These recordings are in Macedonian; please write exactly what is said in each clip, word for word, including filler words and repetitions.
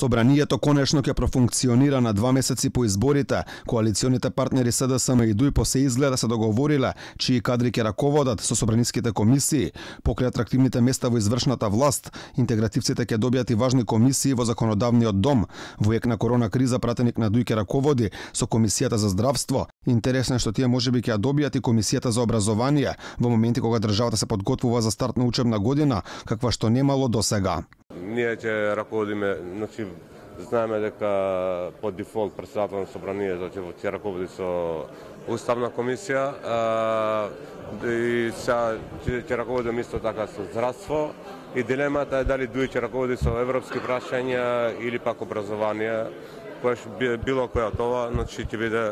Собранието конечно ќе профункционира на два месеци по изборите. Коалиционите партнери СДСМ и ДУИ по се изгледа се договориле чии кадри ќе раководат со собраниските комисии. Покрај атрактивните места во извршната власт, интегративците ќе добијат и важни комисии во законодавниот дом. Во ек на корона криза пратеник на ДУИ ќе раководи со комисијата за здравство. Интересно е што тие можеби ќе ја добијат и комисијата за образование во моменти кога државата се подготвува за старт на учебна година, каква што немало досега. Ние ќе раководиме, значи знаеме дека по дефолт председател на собранието ќе раководи со уставна комисија, а, и сега ќе раководиме исто така со здравство, и дилемата е дали ДУИ ќе раководи со европски прашања или пак образование, која било која тоа, значи ќе биде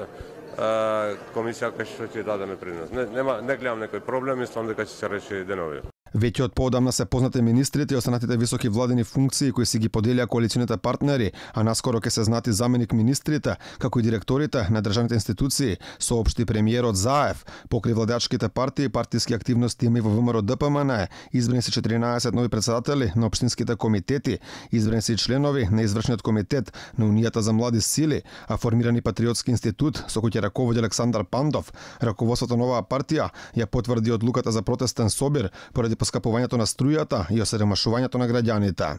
комисија која што ќе дадеме принос. Не, нема, не гледам некој проблем, мислам дека ќе се реши денови. Веќе од поодамна се познати министрите и останатите високи владени функции кои си ги поделија коалиционите партнери, а наскоро ќе се знати заменик министрите, како и директорите на државните институции, соопшти премиерот Заев. Покрај владеачките партии и партиски активности има и во ВМРО ДПМН, избрани се четиринаесет нови председатели на општинските комитети, избрани се и членови на извршниот комитет на Унијата за млади сили, а формирани патриотски институт со кој ќе раководи Александар Пандов. Раководството на оваа партија ја потврди одлуката за протестен собир поради поскапувањето на струјата и осиромашувањето на граѓаните.